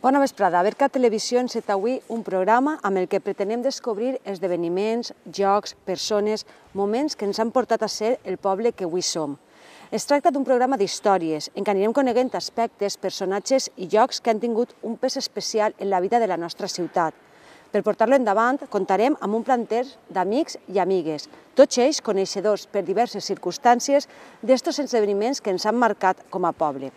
Bona vesprada. Berca Televisió enceta avui un programa amb el que pretenem descobrir esdeveniments, jocs, persones, moments que ens han portat a ser el poble que avui som. Es tracta d'un programa d'històries en què anirem coneguent aspectes, personatges i llocs que han tingut un pes especial en la vida de la nostra ciutat. Per portar-lo endavant, contarem amb un planter d'amics i amigues, tots ells coneixedors per diverses circumstàncies d'estos esdeveniments que ens han marcat com a poble.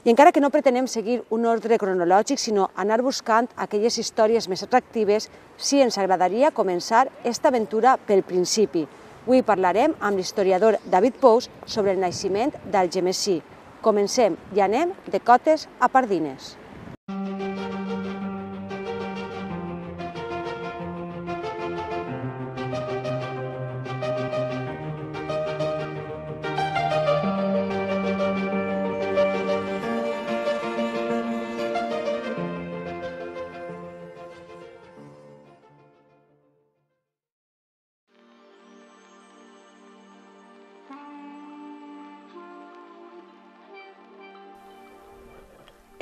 I encara que no pretenem seguir un ordre cronològic, sinó anar buscant aquelles històries més atractives, sí ens agradaria començar esta aventura pel principi. Avui parlarem amb l'historiador David Pous sobre el naixement d'Algemesí. Comencem i anem de Cotes a Pardines.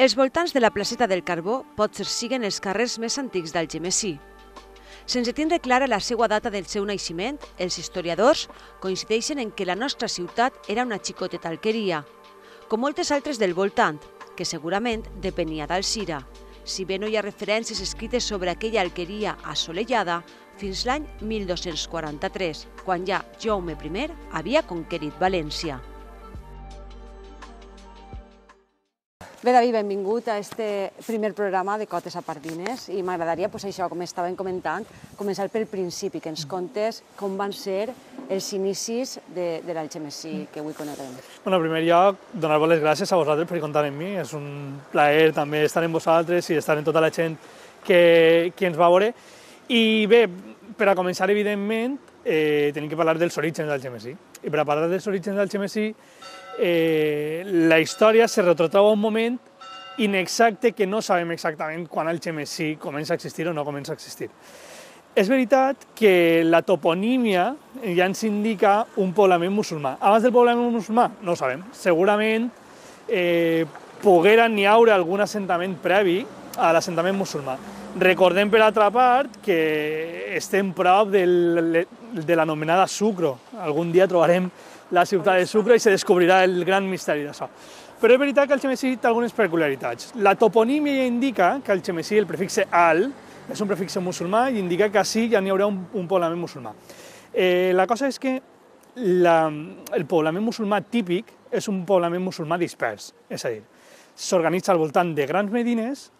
Els voltants de la placeta del Carbó potser siguen els carrers més antics d'Algemesí. Sense tindre clara la seva data del seu naixement, els historiadors coincideixen en que la nostra ciutat era una xicoteta alqueria, com moltes altres del voltant, que segurament depenia d'Alzira, si bé no hi ha referències escrites sobre aquella alqueria assolellada fins l'any 1243, quan ja Jaume I havia conquerit València. Bé, David, benvingut a este primer programa de Cotes a Pardines i m'agradaria, això, com estàvem comentant, començar pel principi, que ens contes com van ser els inicis de l'Algemesí que avui coneguem. En primer lloc, donar-vos les gràcies a vosaltres per comptar amb mi. És un plaer també estar amb vosaltres i estar amb tota la gent que ens va veure. I bé, per a començar, evidentment, tenim que parlar dels orígens d'Algemesí. I per a parlar dels orígens d'Algemesí, la història se retrotreu a un moment inexacte que no sabem exactament quan Algemesí comença a existir o no comença a existir. És veritat que la toponímia ja ens indica un poblament musulmà. Abans del poblament musulmà no ho sabem. Segurament poguera n'hi haure algun assentament previ a l'assentament musulmà. Recordem, per altra part, que estem prop de l'anomenada Sucro. Algun dia trobarem la ciutat de Sucre i se descobrirà el gran misteri d'això. Però és veritat que Algemesí té algunes peculiaritats. La toponímia indica que Algemesí, el prefixe al, és un prefixe musulmà i indica que així ja n'hi haurà un poblament musulmà. La cosa és que el poblament musulmà típic és un poblament musulmà dispers, és a dir, s'organitza al voltant de grans medines,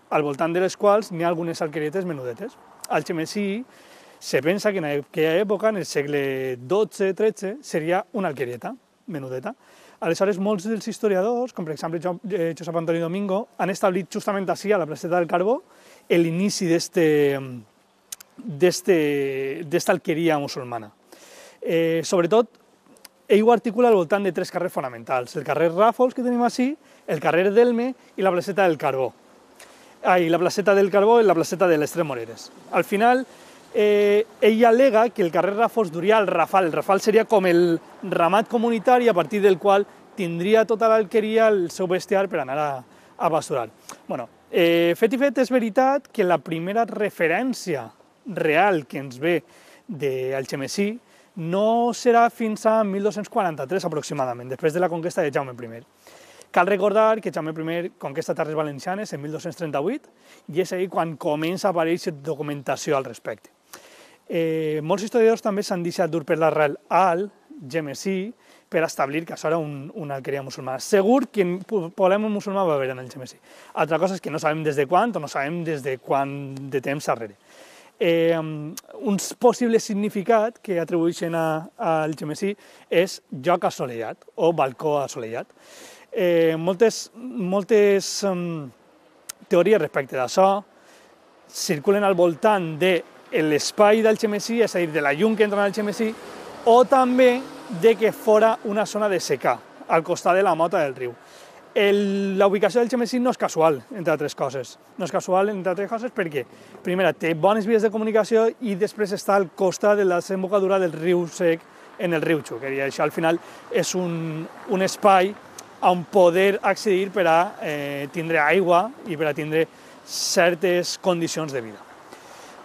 al voltant de les quals n'hi ha algunes alquerietes menudetes. Algemesí se pensa que en aquella època, en el segle XII-XIII, seria una alquerieta menudeta. Aleshores, molts dels historiadors, com per exemple Josep Antoni Domingo, han establit justament així, a la placeta del Carbó, l'inici d'esta alqueria musulmana. Sobretot, ell ho articula al voltant de tres carrers fonamentals: el carrer Ràfols, que tenim així, el carrer Delme i la placeta del Carbó. La placeta del Carbó i la placeta de les Tres Moreres. Al final, ell al·lega que el carrer Ràfols duria al Rafal. El Rafal seria com el ramat comunitari a partir del qual tindria tota l'alqueria el seu bestiar per anar a pasturar. Fet i fet, és veritat que la primera referència real que ens ve d'Algemesí no serà fins a 1243 aproximadament, després de la conquesta de Jaume I. Cal recordar que Jaume I conquesta Terres Valencianes en 1238 i és ahir quan comença a aparèixer documentació al respecte. Molts historiadors també s'han deixat dur per l'arrel Al-Gemesí per establir que això era una alqueria musulmana. Segur que poblament musulmà va haver en Algemesí. Altra cosa és que no sabem des de quan o no sabem des de quant de temps darrere. Un possible significat que atribueixen a Algemesí és lloc assolellat o balcó assolellat. Moltes teories respecte d'això circulen al voltant de l'espai d'Algemesí, és a dir, de la llum que entra en Algemesí, o també de que fora una zona de secà, al costat de la mota del riu. La ubicació d'Algemesí no és casual, entre altres coses. No és casual, entre altres coses, perquè, primera, té bones vies de comunicació i després està al costat de la desembocadura del riu Sec en el riu Xúquer. I això, al final, és un espai on poder accedir per a tindre aigua i per a tindre certes condicions de vida.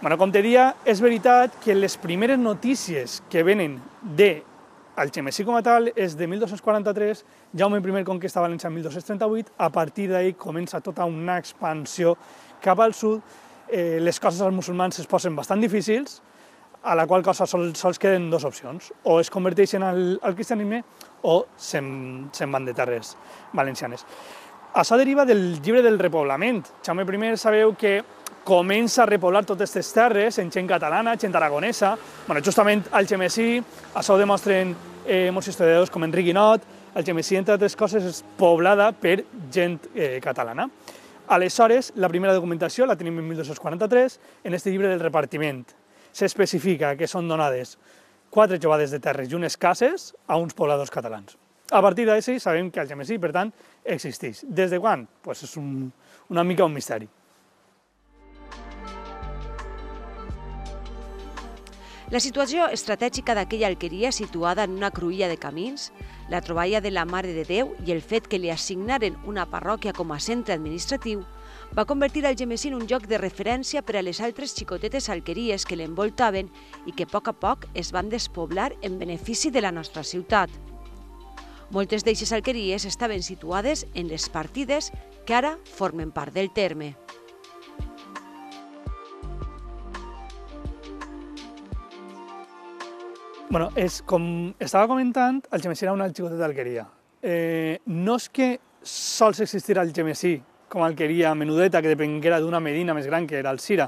Bueno, com te deia, és veritat que les primeres notícies que venen de Algemesí com a tal és de 1243, Jaume I conquesta València en 1238, a partir d'ahir comença tota una expansió cap al sud, les coses als musulmans es posen bastant difícils, a la qual cosa sols queden dues opcions, o es converteixen al cristianisme o se'n van de terres valencianes. Això deriva del llibre del repoblament. Jaume I sabeu que comença a repoblar totes aquestes terres en gent catalana, gent aragonesa. Justament Algemesí, això ho demostren molts historiadors com Enric Guinot, Algemesí, entre altres coses, és poblada per gent catalana. Aleshores, la primera documentació la tenim en 1243, en aquest llibre del repartiment. S'especifica que són donades 4 jovades de terres i unes cases a uns pobladors catalans. A partir d'així sabem que Algemesí, per tant, existeix. Des de quan? Doncs és una mica un misteri. La situació estratègica d'aquella alqueria situada en una cruïlla de camins, la troballa de la Mare de Déu i el fet que li assignaren una parròquia com a centre administratiu va convertir Algemesí en un lloc de referència per a les altres xicotetes alqueries que l'envoltaven i que a poc es van despoblar en benefici de la nostra ciutat. Moltes d'eixes alqueries estaven situades en les partides que ara formen part del terme. Com estava comentant, Algemesí era una xicoteta d'alqueria. No és que sols existira Algemesí com a alqueria menudeta que depenguera d'una medina més gran que era Alzira,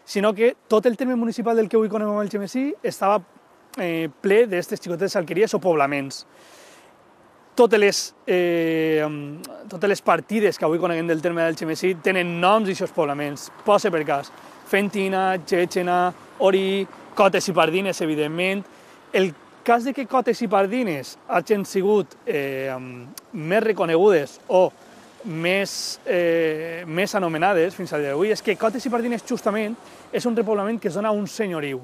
sinó que tot el terme municipal del que avui coneguem Algemesí estava ple d'aquestes xicotetes alqueries o poblaments. Totes les partides que avui coneguem del terme d'Algemesí tenen noms d'aquests poblaments. Posa per cas Fentina, Txetxena, Orí, Cotes i Pardines, evidentment. El cas de que Cotes i Pardines hagin sigut més reconegudes o més anomenades fins al dia d'avui és que Cotes i Pardines justament és un repoblament que es dona a un senyoriu.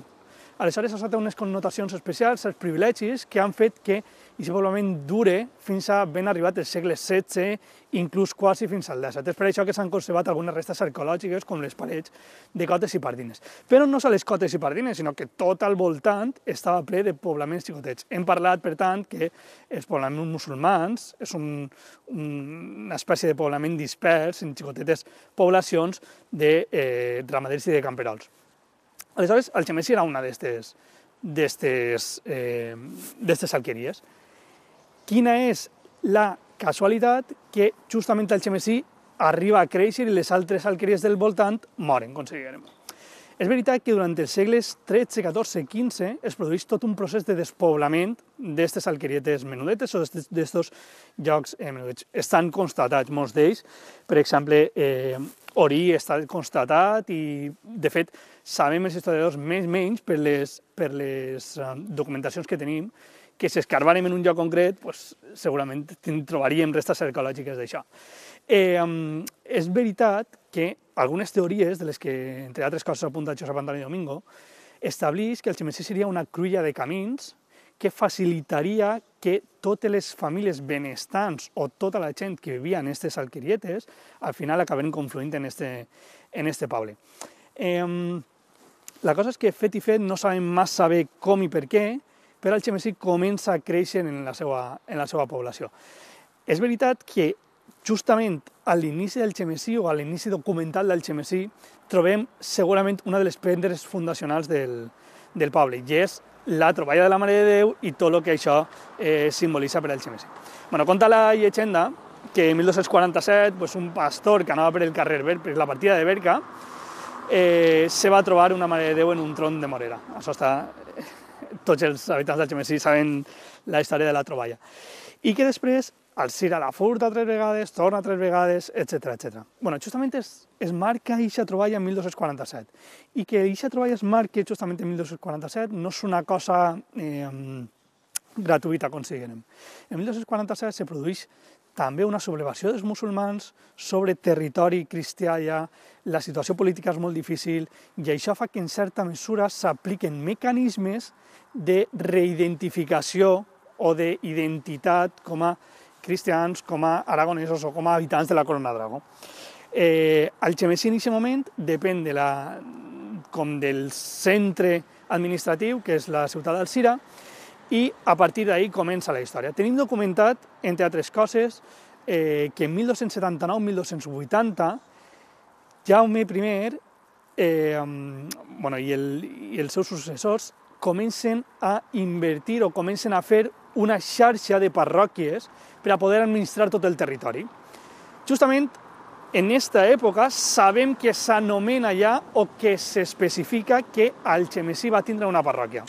Aleshores, això té unes connotacions especials, els privilegis que han fet que aquest poblament dure fins a ben arribat el segle XVI, inclús quasi fins al XVII. És per això que s'han conservat algunes restes arqueològiques, com les parets de Cotes i Pardines. Però no sols Cotes i Pardines, sinó que tot al voltant estava ple de poblaments xicotets. Hem parlat, per tant, que els poblaments musulmans és una espècie de poblament dispers en xicotetes poblacions de ramaders i de camperols. Aleshores, Algemesí era una d'aquestes alqueries. Quina és la casualitat que justament Algemesí arriba a créixer i les altres alqueries del voltant moren, considerem. És veritat que durant els segles XIII, XIV, XV es produeix tot un procés de despoblament d'aquestes alquerietes menudetes o d'aquests llocs menudets. Estan constatats molts d'ells, per exemple, Orí està constatat i, de fet, sabem els historiadors menys per les documentacions que tenim que si escarbarem en un lloc concret, segurament trobaríem restes arqueològiques d'això. És veritat que algunes teories, de les que, entre altres coses, apunta Josep Antoni Domingo, estableix que Algemesí seria una cruïlla de camins que facilitaria que totes les famílies benestants o tota la gent que vivia en aquestes alquerietes al final acaben confluint en este poble. La cosa és que, fet i fet, no sabem massa bé com i per què, però Algemesí comença a créixer en la seva població. És veritat que justament a l'inici d'Algemesí o a l'inici documental d'Algemesí trobem segurament una de les pedres fundacionals del poble, i és la troballa de la Mare de Déu i tot el que això simbolitza per Algemesí. Conta la llegenda que en 1247 un pastor que anava per el carrer, per la partida de Berca, se va trobar una Mare de Déu en un tron de morera. Això està... Tots els habitants d'Algemesí saben la història de la troballa. I que després Alzira la furta 3 vegades, torna 3 vegades, etc. Justament es marca aquesta troballa en 1247. I que aquesta troballa es marqui justament en 1247 no és una cosa gratuïta, considerem. En 1247 se produeix també una sublevació dels musulmans sobre territori cristià ja, la situació política és molt difícil i això fa que en certa mesura s'apliquen mecanismes de reidentificació o d'identitat com a cristians, com a aragonesos o com a habitants de la Corona d'Aragó. Algemesí en aquest moment depèn del centre administratiu, que és la ciutat d'Alzira, i a partir d'ahí comença la història. Tenim documentat, entre altres coses, que en 1279-1280 Jaume I i els seus successors comencen a invertir o comencen a fer una xarxa de parròquies per a poder administrar tot el territori. Justament en aquesta època sabem que s'anomena ja o que s'especifica que Algemesí va tindre una parròquia.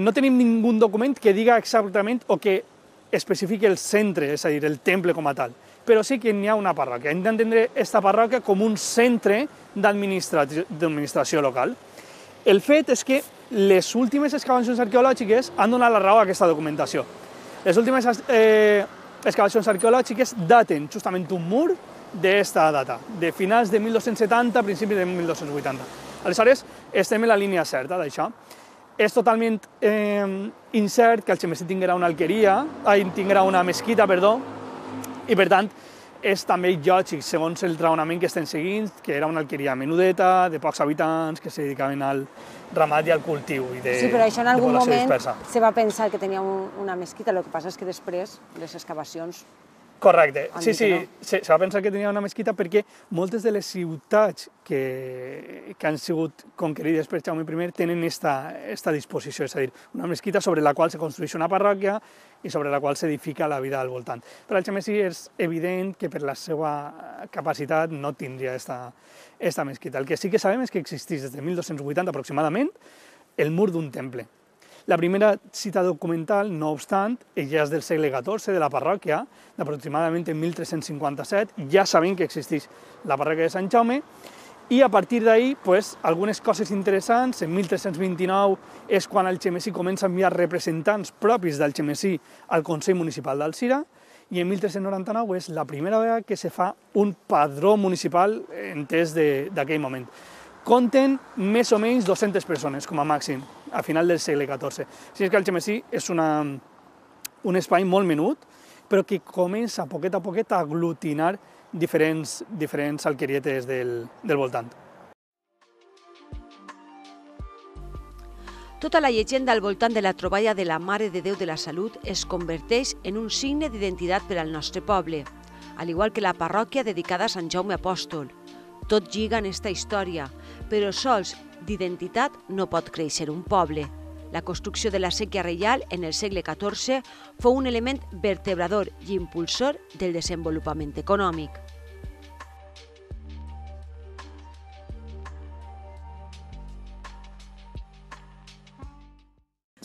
No tenim ningú document que diga exactament o que especifiqui el centre, és a dir, el temple com a tal, però sí que n'hi ha una parròquia. Hem d'entendre aquesta parròquia com un centre d'administració local. El fet és que les últimes excavacions arqueològiques han donat la raó a aquesta documentació. Les últimes excavacions arqueològiques daten justament un mur d'esta data, de finals de 1270, principis de 1280. Aleshores, estem en la línia certa d'això. És totalment incert que Algemesí tinguera una mesquita, i per tant és també lògic, segons el raonament que estem seguint, que era una alqueria menudeta, de pocs habitants, que se dedicaven al ramat i al cultiu. Sí, però això en algun moment se va pensar que tenia una mesquita, el que passa és que després les excavacions... Correcte, sí, se va pensar que tenia una mesquita perquè moltes de les ciutats que han sigut conquerides per Jaume I tenen aquesta disposició, és a dir, una mesquita sobre la qual se construeix una parròquia i sobre la qual s'edifica la vida al voltant. Per Algemesí és evident que per la seva capacitat no tindria aquesta mesquita. El que sí que sabem és que existeix des de 1280 aproximadament el mur d'un temple. La primera cita documental, no obstant, ja és del segle XIV, de la parròquia, d'aproximadament en 1357, ja sabem que existeix la parròquia de Sant Jaume, i a partir d'ahir, algunes coses interessants. En 1329 és quan Algemesí comença a enviar representants propis d'Algemesí al Consell Municipal d'Alzira, i en 1399 és la primera vegada que se fa un padró municipal entès d'aquell moment. Compten més o menys 200 persones, com a màxim, a final del segle XIV. Així que Algemesí és un espai molt menut, però que comença a poquet a aglutinar diferents alquerietes del voltant. Tota la llegenda al voltant de la troballa de la Mare de Déu de la Salut es converteix en un signe d'identitat per al nostre poble, al igual que la parròquia dedicada a Sant Jaume Apòstol. Tot lliga en esta història, però sols d'identitat no pot créixer un poble. La construcció de la séquia reial en el segle XIV fou un element vertebrador i impulsor del desenvolupament econòmic.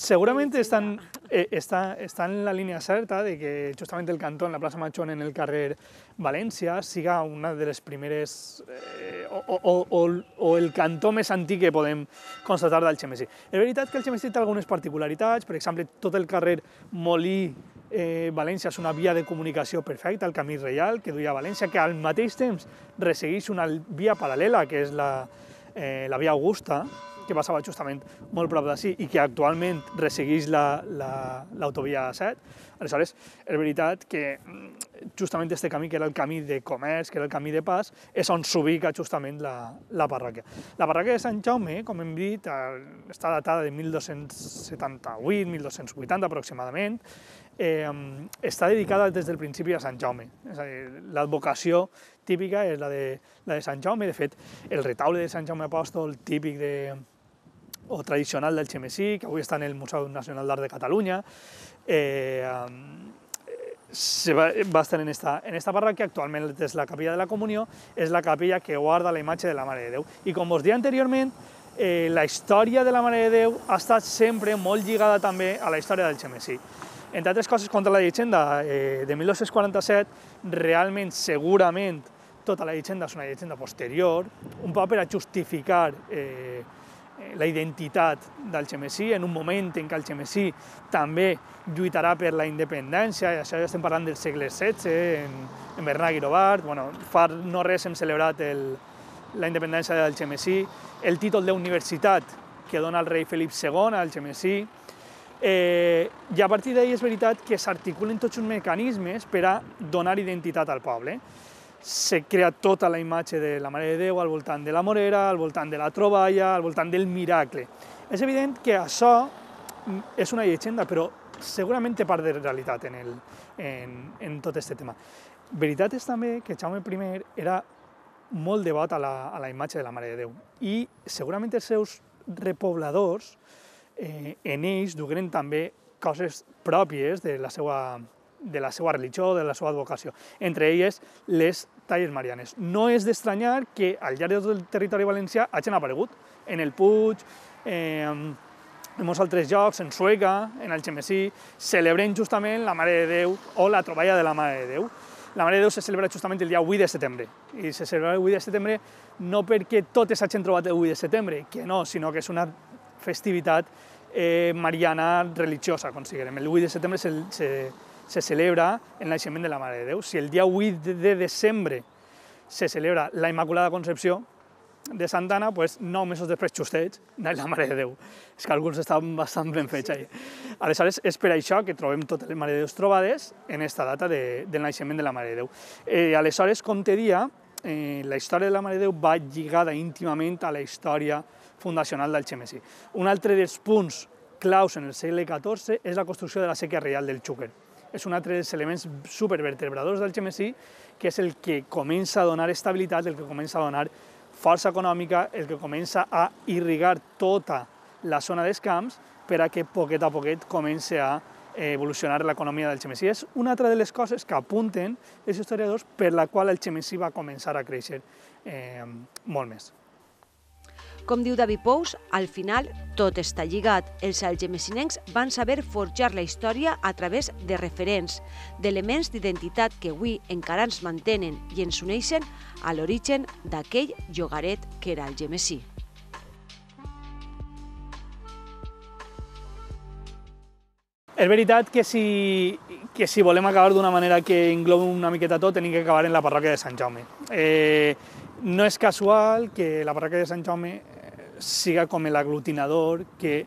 Segurament està en la línia certa de que justament el cantó en la plaça Major en el carrer València siga una de les primeres o el cantó més antic que podem constatar d'Algemesí. És veritat que Algemesí té algunes particularitats, per exemple, tot el carrer Molí-València és una via de comunicació perfecta, el camí reial que duia a València, que al mateix temps ressegueix una via paral·lela, que és la via Augusta, que passava justament molt prop d'ací i que actualment ressegueix l'autovia 7. Aleshores, és veritat que justament aquest camí, que era el camí de comerç, que era el camí de pas, és on s'ubica justament la parròquia. La parròquia de Sant Jaume, com hem dit, està datada de 1278-1280 aproximadament, està dedicada des del principi a Sant Jaume. És a dir, l'advocació típica és la de Sant Jaume. De fet, el retaule de Sant Jaume Apòstol típic o tradicional d'Algemesí, que avui està en el Museu Nacional d'Art de Catalunya, va estar en esta parròquia. Actualment és la capella de la Comunió, és la capella que guarda la imatge de la Mare de Déu. I com us deia anteriorment, la història de la Mare de Déu ha estat sempre molt lligada també a la història d'Algemesí. Entre altres coses, contra la llegenda de 1247, realment, segurament, tota la llegenda és una llegenda posterior, un poc per a justificar la identitat d'Algemesí en un moment en què Algemesí també lluitarà per la independència, i això ja estem parlant del segle XVI, en Bernat Guirovart. Fa no res hem celebrat la independència d'Algemesí, el títol d'universitat que dona el rei Felip II a Algemesí. I a partir d'ahir és veritat que s'articulen tots uns mecanismes per a donar identitat al poble. Se crea tota la imatge de la Mare de Déu al voltant de la Morera, al voltant de la troballa, al voltant del miracle. És evident que això és una llegenda, però segurament té part de realitat en tot aquest tema. Veritat és també que Jaume I era molt devot a la imatge de la Mare de Déu i segurament els seus repobladors en ells dugueren també coses pròpies de la seva religió, de la seva advocació, entre elles les talles marianes. No és d'estranyar que al llarg de tot el territori valencià hagin aparegut en el Puig, en molts altres llocs, en Sueca, en Algemesí, celebrem justament la Mare de Déu o la troballa de la Mare de Déu. La Mare de Déu se celebra justament el dia 8 de setembre, i se celebra el 8 de setembre no perquè totes hagin trobat el 8 de setembre, que no, sinó que és una festivitat mariana religiosa, considerem. El 8 de setembre se celebra el naixement de la Mare de Déu. Si el dia 8 de desembre se celebra la Immaculada Concepció de Santa Anna, doncs 9 mesos després, justets, naix la Mare de Déu. És que alguns estan bastant ben fets ahí. Aleshores, és per això que trobem totes les Mare de Déus trobades en aquesta data del naixement de la Mare de Déu. Aleshores, com te dia, la història de la Mare de Déu va lligada íntimament a la història fundacional d'Algemesí. Un altre dels punts claus en el segle XIV és la construcció de la séquia reial del Xúquer. És un altre dels elements supervertebradors d'Algemesí, que és el que comença a donar estabilitat, el que comença a donar força econòmica, el que comença a irrigar tota la zona dels camps per a que poquet a poquet comenci a evolucionar l'economia d'Algemesí. És una altra de les coses que apunten els historiadors per la qual Algemesí va començar a créixer molt més. Com diu David Pous, al final tot està lligat. Els algemesinencs van saber forjar la història a través de referents, d'elements d'identitat que avui encara ens mantenen i ens uneixen a l'origen d'aquell llogaret que era Algemesí. És veritat que si volem acabar d'una manera que englobi una miqueta tot, hem que acabar en la parròquia de Sant Jaume. No és casual que la parròquia de Sant Jaume siga com l'aglutinador que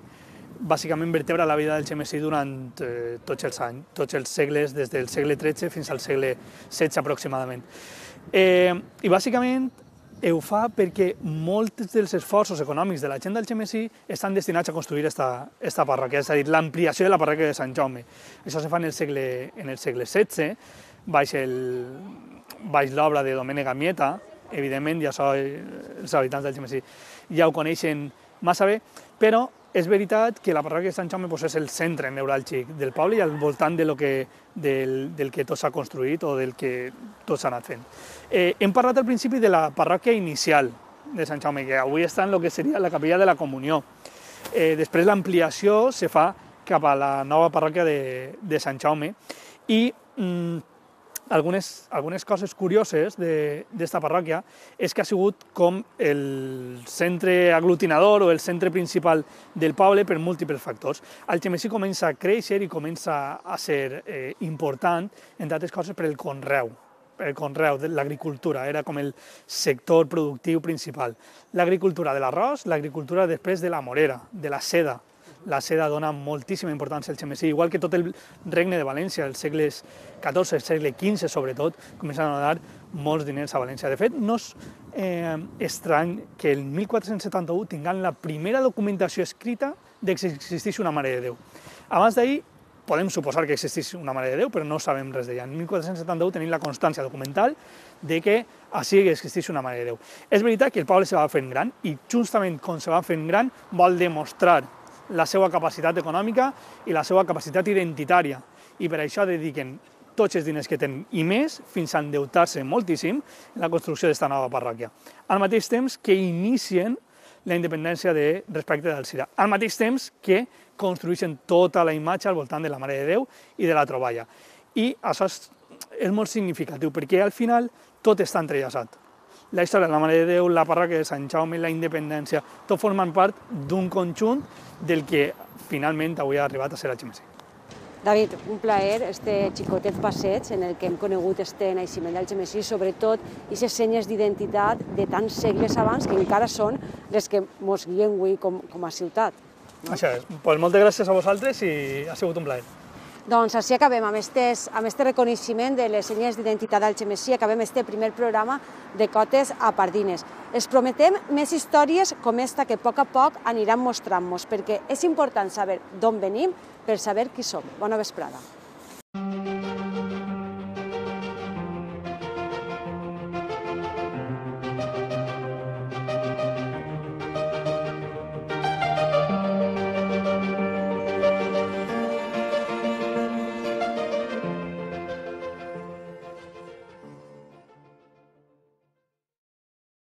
bàsicament vertebra la vida d'Algemesí durant tots els segles, des del segle XIII fins al segle XVI aproximadament. I bàsicament ho fa perquè molts dels esforços econòmics de la gent d'Algemesí estan destinats a construir aquesta parròquia, és a dir, l'ampliació de la parròquia de Sant Jaume. Això se fa en el segle XVI, baix l'obra de Domènec Amieta, evidentment, i això els habitants d'Algemesí ja ho coneixen massa bé, però és veritat que la parròquia de Sant Jaume és el centre neuràlgic del poble i al voltant del que tot s'ha construït o del que tot s'ha anat fent. Hem parlat al principi de la parròquia inicial de Sant Jaume, que avui està en el que seria la capella de la Comunió. Després l'ampliació se fa cap a la nova parròquia de Sant Jaume i algunes coses curioses d'esta parròquia és que ha sigut com el centre aglutinador o el centre principal del poble per múltiples factors. Algemesí comença a créixer i comença a ser important, entre altres coses, per el conreu, de l'agricultura, era com el sector productiu principal. L'agricultura de l'arròs, l'agricultura després de la morera, de la seda. La seda dona moltíssima importància al Algemesí, igual que tot el regne de València, els segles XIV, el segle XV sobretot, comencen a donar molts diners a València. De fet, no és estrany que el 1471 tinguem la primera documentació escrita de que existeix una Mare de Déu. Abans d'ahir podem suposar que existeix una Mare de Déu, però no sabem res d'ella. En 1471 tenim la constància documental de que així existeix una Mare de Déu. És veritat que el poble se va fent gran i justament com se va fent gran vol demostrar la seva capacitat econòmica i la seva capacitat identitària. I per això dediquen tots els diners que tenen i més, fins a endeutar-se moltíssim en la construcció d'esta nova parròquia. Al mateix temps que inicien la independència respecte d'Alzira. Al mateix temps que construeixen tota la imatge al voltant de la Mare de Déu i de la troballa. I això és molt significatiu, perquè al final tot està entrellaçat. La història de la Mare de Déu, la parròquia de Sant Jaume, la independència, tot formen part d'un conjunt del que finalment avui ha arribat a ser Algemesí. David, un plaer, este xicotet passeig en el que hem conegut este naixement d'Algemesí, sobretot aquestes senyes d'identitat de tants segles abans que encara són les que ens guien avui com a ciutat. Això és. Pues moltes gràcies a vosaltres i ha sigut un plaer. Doncs així acabem amb este reconeixement de les senyes d'identitat d'Algemesí, acabem este primer programa de Cotes a Pardines. Es prometem més històries com esta que a poc aniran mostrant-nos, perquè és important saber d'on venim per saber qui som. Bona vesprada.